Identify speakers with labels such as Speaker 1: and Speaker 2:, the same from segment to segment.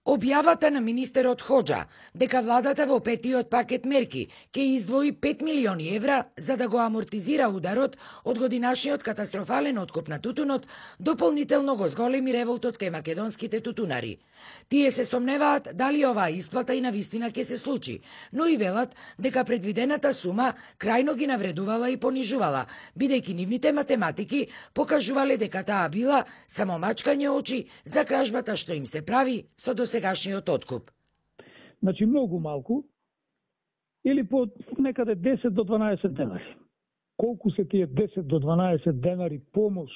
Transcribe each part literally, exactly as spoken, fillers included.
Speaker 1: Објавата на министерот Хоџа дека владата во петиот пакет мерки ќе издвои пет милиони евра за да го амортизира ударот од годинашниот катастрофален откуп на тутунот, дополнително го зголеми револтот кај македонските тутунари. Тие се сомневаат дали оваа исплата и навистина ќе се случи, но и велат дека предвидената сума крајно ги навредувала и понижувала, бидејќи нивните математики покажувале дека таа била само мачкање очи за кражбата што им се прави со досегашниот откуп.
Speaker 2: Значи многу малку или по некаде десет до дванаесет денари. Колку се тие десет до дванаесет денари помош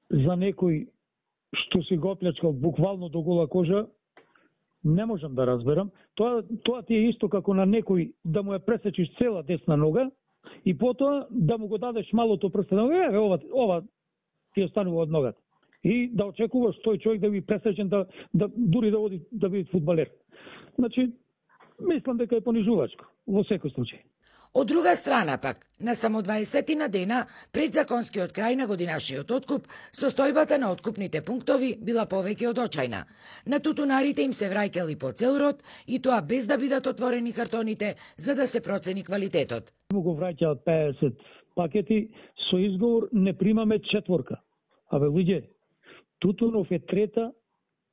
Speaker 2: за некој што си го оплячкал буквално до гола кожа, не можам да разберам. Тоа, тоа ти е исто како на некој да му ја пресечиш цела десна нога и потоа да му го дадеш малото прсте на нога, ова, ова ти останува од ногата. И да очекуваш тој човек да би пресечен да, да дури да оди да биде фудбалер. Значи, мислам дека е понижувачко во секој случај.
Speaker 1: Од друга страна пак, на само дваесет дена пред законскиот крај на годинашниот откуп, состојбата на откупните пунктови била повеќе од очајна. На тутунарите им се враќали по цел род и тоа без да бидат отворени картоните за да се процени квалитетот.
Speaker 2: Му го враќаат пеесет пакети со изговор не примаме четворка. Абе луѓе, тутунов е трета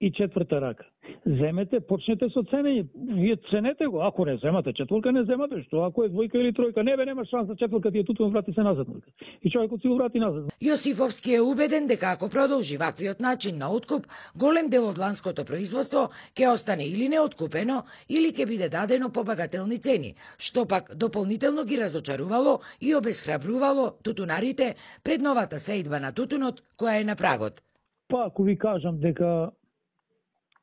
Speaker 2: и четврта рака. Земете, почнете со ценење. Вие ценете го. Ако не земате четворка, не земате. Што ако е двојка или тројка, не бе, нема шанса четворка, ти е тутунов, врати се назад. И човекот си го врати назад.
Speaker 1: Јосифовски е убеден дека ако продолжи ваквиот начин на откуп, голем дел од ланското производство ќе остане или неоткупено, или ќе биде дадено по багателни цени, што пак дополнително ги разочарувало и обесхрабрувало тутунарите пред новата сеидба на тутунот која е на прагот.
Speaker 2: Па ако ви кажам дека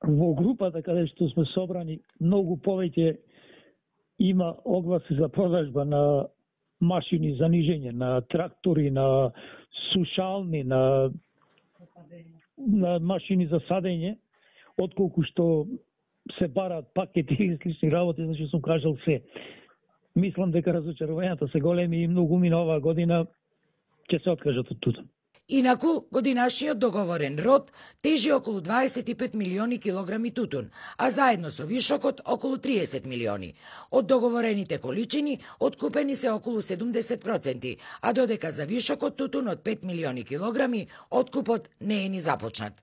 Speaker 2: во групата каде што сме собрани многу повеќе има огласи за продажба на машини за нижење, на трактори, на сушални, на, на машини за садење, отколку што се бараат пакети и слични работи, значи сум кажал се. Мислам дека разочарувањата се големи и многу мина оваа година ќе се откажат од тутун.
Speaker 1: Инаку, годинашниот договорен род тежи околу дваесет и пет милиони килограми тутун, а заедно со вишокот околу триесет милиони. Од договорените количини откупени се околу седумдесет проценти, а додека за вишокот тутун од пет милиони килограми откупот не е ни започнат.